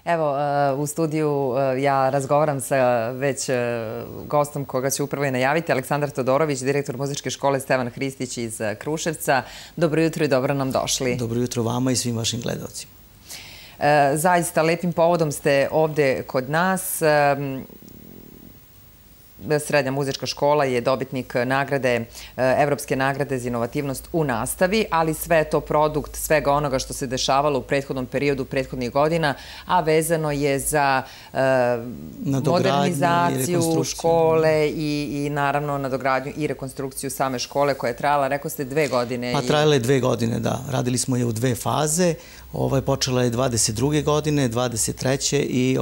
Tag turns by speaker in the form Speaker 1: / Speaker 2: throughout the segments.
Speaker 1: Evo, u studiju ja razgovaram sa već gostom koga ću upravo i najaviti, Aleksandar Todorović, direktor muzičke škole Stevan Hristić iz Kruševca. Dobro jutro i dobro nam došli.
Speaker 2: Dobro jutro vama i svim vašim gledalcima.
Speaker 1: Zaista lepim povodom ste ovde kod nas. Srednja muzička škola je dobitnik nagrade, Evropske nagrade za inovativnost u nastavi, ali sve je to produkt svega onoga što se dešavalo u prethodnom periodu, prethodnih godina, a vezano je za modernizaciju škole i naravno nadogradnju i rekonstrukciju same škole koja je trajala, rekao ste, 2 godine.
Speaker 2: Pa trajala je 2 godine, da. Radili smo je u 2 faze. Počela je 22. godine, 23. i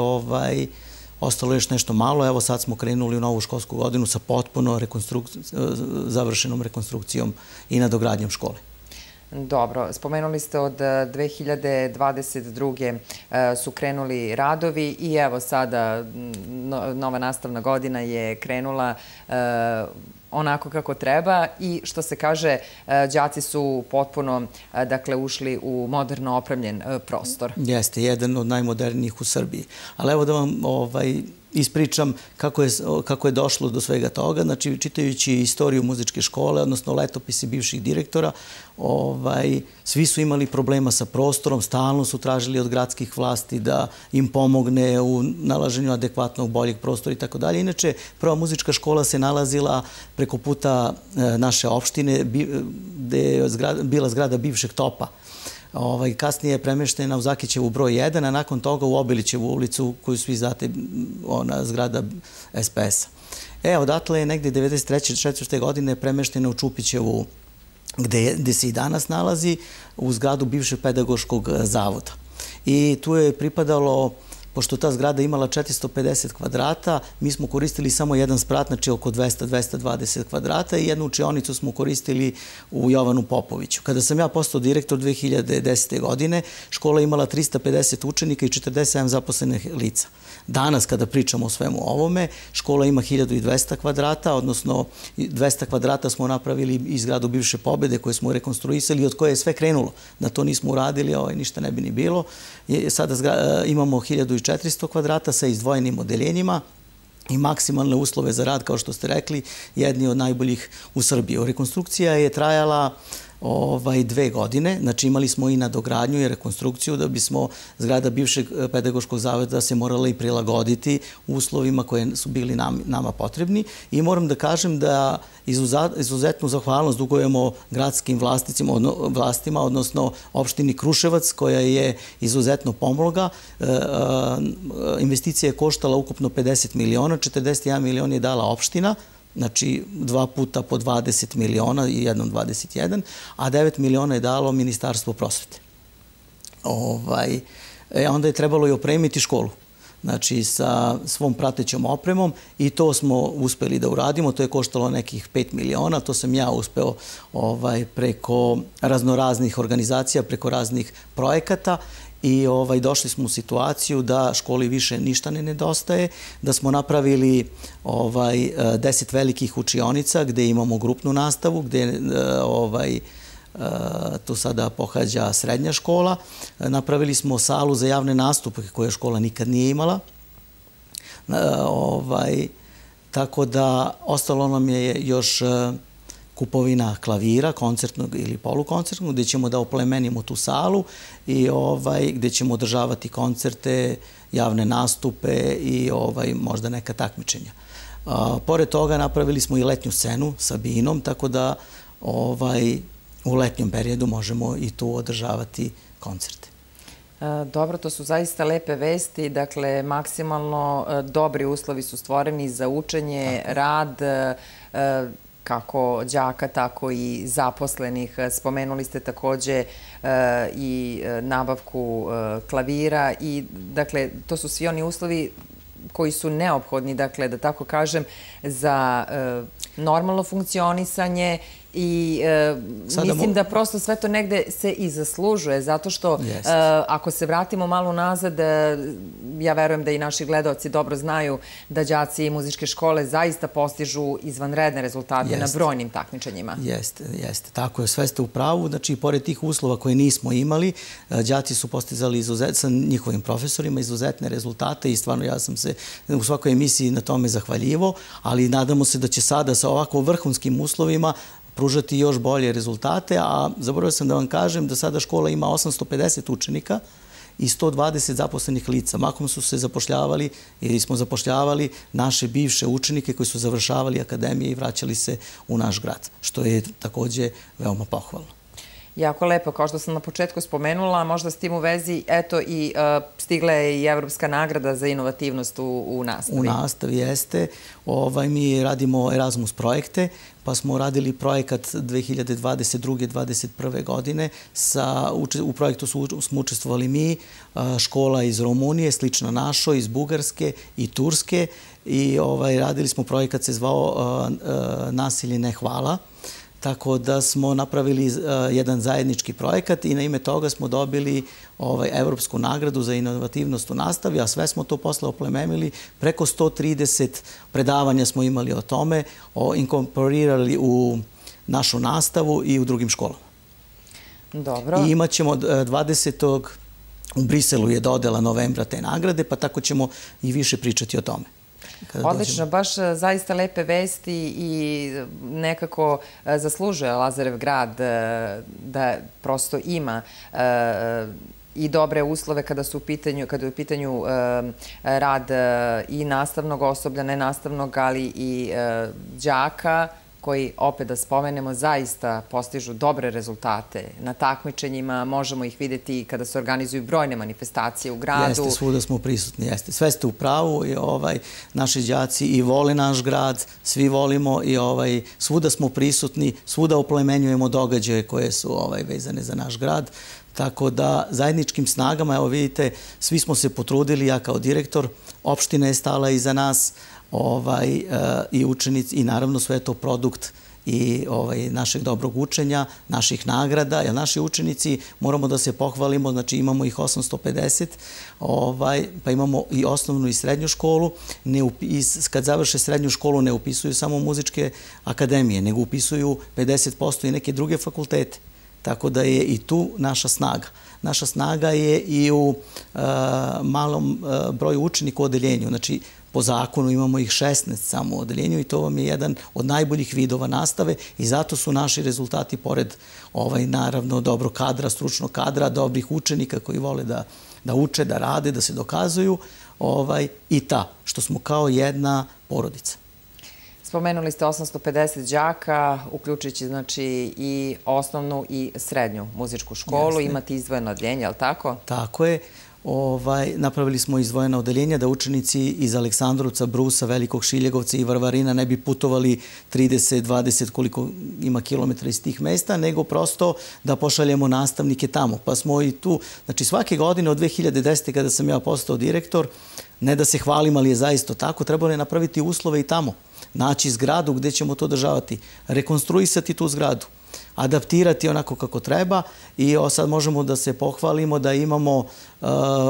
Speaker 2: ostalo je još nešto malo. Evo sad smo krenuli u novu školsku godinu sa potpuno završenom rekonstrukcijom i nadogradnjom škole.
Speaker 1: Dobro, spomenuli ste od 2022. su krenuli radovi i evo sada nova nastavna godina je krenula onako kako treba i što se kaže, đaci su potpuno ušli u moderno opremljen prostor.
Speaker 2: Jeste, jedan od najmodernijih u Srbiji. Ali evo da vam ispričam kako je došlo do svega toga. Znači, čitajući istoriju muzičke škole, odnosno letopisi bivših direktora, svi su imali problema sa prostorom, stalno su tražili od gradskih vlasti da im pomogne u nalaženju adekvatnog, boljeg prostora i tako dalje. Inače, prva muzička škola se nalazila preko puta naše opštine, gde je bila zgrada bivšeg topa. Kasnije je premeštena u Zakićevu broj 1, a nakon toga u Obilićevu ulicu, koju svi znate, ona zgrada SPS-a. Odatle je negde 1993. 1994. godine premeštena u Čupićevu, gde se i danas nalazi, u zgradu bivšeg pedagoškog zavoda. I tu je pripadalo, pošto ta zgrada imala 450 kvadrata, mi smo koristili samo jedan sprat, znači oko 200-220 kvadrata i jednu učionicu smo koristili u Jovanu Popoviću. Kada sam ja postao direktor 2010. godine, škola je imala 350 učenika i 47 zaposlenih lica. Danas, kada pričamo o svemu ovome, škola ima 1200 kvadrata, odnosno 200 kvadrata smo napravili iz zgradu bivše Pobede koje smo rekonstruisali i od koje je sve krenulo. Da to nismo uradili, ništa ne bi ni bilo. Sada imamo 1400 kvadrata sa izdvojenim odeljenjima i maksimalne uslove za rad, kao što ste rekli, jedni od najboljih u Srbiji. Rekonstrukcija je trajala 2 godine, znači imali smo i nadogradnju i rekonstrukciju da bismo zgrada bivšeg pedagoškog zavoda se morala i prilagoditi uslovima koje su bili nama potrebni i moram da kažem da izuzetnu zahvalnost dugujemo gradskim vlastima, odnosno opštini Kruševac koja je izuzetno pomogla. Investicija je koštala ukupno 50 miliona, 41 milion je dala opština, znači 2 puta po 20 miliona i jednom 21, a 9 miliona je dalo Ministarstvo prosvete. Onda je trebalo i opremiti školu, znači sa svom pratećom opremom i to smo uspeli da uradimo. To je koštalo nekih 5 miliona, to sam ja uspeo preko raznoraznih organizacija, preko raznih projekata. I došli smo u situaciju da školi više ništa ne nedostaje, da smo napravili 10 velikih učionica gde imamo grupnu nastavu, gde tu sada pohađa srednja škola. Napravili smo salu za javne nastupe koje škola nikad nije imala. Tako da ostalo nam je još kupovina klavira, koncertnog ili polukoncertnog, gde ćemo da oplemenimo tu salu i gde ćemo održavati koncerte, javne nastupe i možda neka takmičenja. Pored toga napravili smo i letnju scenu sa binom, tako da u letnjem periodu možemo i tu održavati koncerte.
Speaker 1: Dobro, to su zaista lepe vesti, dakle maksimalno dobri uslovi su stvoreni za učenje, rad, kako đaka, tako i zaposlenih. Spomenuli ste takođe i nabavku klavira i, dakle, to su svi oni uslovi koji su neophodni, dakle, da tako kažem, za normalno funkcionisanje I mislim da prosto sve to negde se i zaslužuje, zato što ako se vratimo malo nazad, ja verujem da i naši gledaoci dobro znaju da đaci muzičke škole zaista postižu izvanredne rezultate na brojnim takmičenjima.
Speaker 2: Jeste. Tako je, sve ste u pravu. Znači, pored tih uslova koje nismo imali, đaci su postizali sa njihovim profesorima izuzetne rezultate i stvarno ja sam se u svakoj emisiji na tome zahvaljivo, ali nadamo se da će sada sa ovako vrhunskim uslovima pružati još bolje rezultate, a zaboravio sam da vam kažem da sada škola ima 850 učenika i 120 zaposlenih lica. Mahom su se zapošljavali ili smo zapošljavali naše bivše učenike koji su završavali akademije i vraćali se u naš grad, što je takođe veoma pohvalno.
Speaker 1: Jako lepo, kao što sam na početku spomenula, možda s tim u vezi, eto i stigla je i Evropska nagrada za inovativnost u nastavi.
Speaker 2: U nastavi jeste. Mi radimo Erasmus projekte, pa smo radili projekat 2022-2021. godine. U projektu smo učestvovali mi, škola iz Rumunije, slična našoj, iz Bugarske i Turske i radili smo projekat, se zvao Nasilje ne hvala. Tako da smo napravili jedan zajednički projekat i na ime toga smo dobili Evropsku nagradu za inovativnost u nastavi, a sve smo to posle oplemenili. Preko 130 predavanja smo imali o tome, inkorporirali u našu nastavu i u drugim školama.
Speaker 1: Dobro.
Speaker 2: I imat ćemo 20. u Briselu je dodela novembra te nagrade, pa tako ćemo i više pričati o tome.
Speaker 1: Odlično, baš zaista lepe vesti i nekako zaslužuje Lazarev grad da prosto ima i dobre uslove kada je u pitanju rad i nastavnog osoblja, nenastavnog, ali i đaka koji, opet da spomenemo, zaista postižu dobre rezultate na takmičenjima. Možemo ih videti kada se organizuju brojne manifestacije u gradu.
Speaker 2: Jeste, svuda smo prisutni, jeste. Sve ste u pravu i naši đaci i vole naš grad, svi volimo i svuda smo prisutni, svuda oplemenjujemo događaje koje su vezane za naš grad. Tako da zajedničkim snagama, evo vidite, svi smo se potrudili, ja kao direktor, opština je stala iza nas, i učenici i naravno sve je to produkt i našeg dobrog učenja, naših nagrada, jer naši učenici, moramo da se pohvalimo, znači imamo ih 850, pa imamo i osnovnu i srednju školu. Kad završe srednju školu ne upisuju samo muzičke akademije, nego upisuju 50% i neke druge fakultete. Tako da je i tu naša snaga. Naša snaga je i u malom broju učenika u odeljenju, znači po zakonu imamo ih 16 samo u odeljenju i to vam je jedan od najboljih vidova nastave i zato su naši rezultati, pored naravno dobrog kadra, stručnog kadra, dobrih učenika koji vole da uče, da rade, da se dokazuju, i što smo kao jedna porodica.
Speaker 1: Spomenuli ste 850 đaka, uključujući znači i osnovnu i srednju muzičku školu. Imate izdvojeno odeljenje, je li tako?
Speaker 2: Tako je. Napravili smo izdvojena odeljenja da učenici iz Aleksandrovca, Brusa, Velikog Šiljegovca i Varvarina ne bi putovali 30, 20 koliko ima kilometra iz tih mesta, nego prosto da pošaljemo nastavnike tamo. Pa smo i tu, znači svake godine od 2010. kada sam ja postao direktor, ne da se hvalim, ali je zaista tako, trebalo je napraviti uslove i tamo. Naći zgradu gde ćemo to održavati, rekonstruisati tu zgradu, adaptirati onako kako treba i sad možemo da se pohvalimo da imamo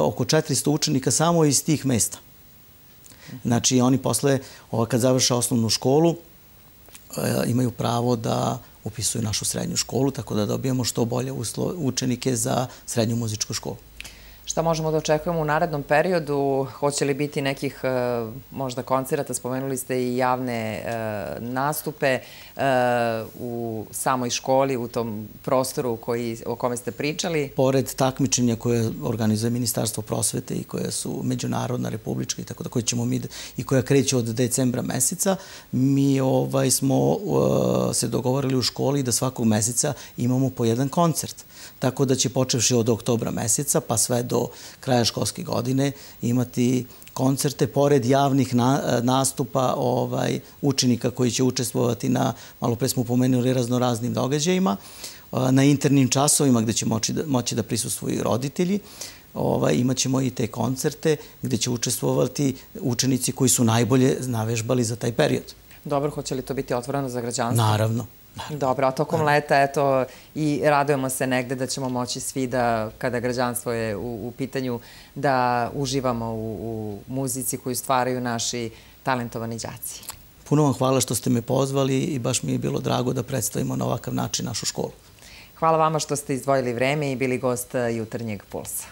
Speaker 2: oko 400 učenika samo iz tih mesta. Znači oni posle, kad završe osnovnu školu, imaju pravo da upisuju našu srednju školu, tako da dobijemo što bolje učenike za srednju muzičku školu.
Speaker 1: Šta možemo da očekujemo u narednom periodu? Hoće li biti nekih možda koncerata? Spomenuli ste i javne nastupe u samoj školi, u tom prostoru o kome ste pričali.
Speaker 2: Pored takmičenja koje organizuje Ministarstvo prosvete i koja su međunarodna, republička i tako da koje ćemo mi i koja kreće od decembra meseca, mi smo se dogovorili u školi da svakog meseca imamo po jedan koncert. Tako da će počevši od oktobra meseca pa sve do kraja školske godine imati koncerte pored javnih nastupa učenika koji će učestvovati na, malo pre smo pomenuli, raznoraznim događajima, na internim časovima gde će moći da prisustvuju roditelji. Imat ćemo i te koncerte gde će učestvovati učenici koji su najbolje navežbali za taj period.
Speaker 1: Dobro, hoće li to biti otvoreno za građanstvo?
Speaker 2: Naravno.
Speaker 1: Dobro, a tokom leta, eto, i radujemo se negde da ćemo moći svi da, kada građanstvo je u pitanju, da uživamo u muzici koju stvaraju naši talentovani đaci.
Speaker 2: Puno vam hvala što ste me pozvali i baš mi je bilo drago da predstavimo na ovakav način našu školu.
Speaker 1: Hvala vama što ste izdvojili vreme i bili gost Jutarnjeg pulsa.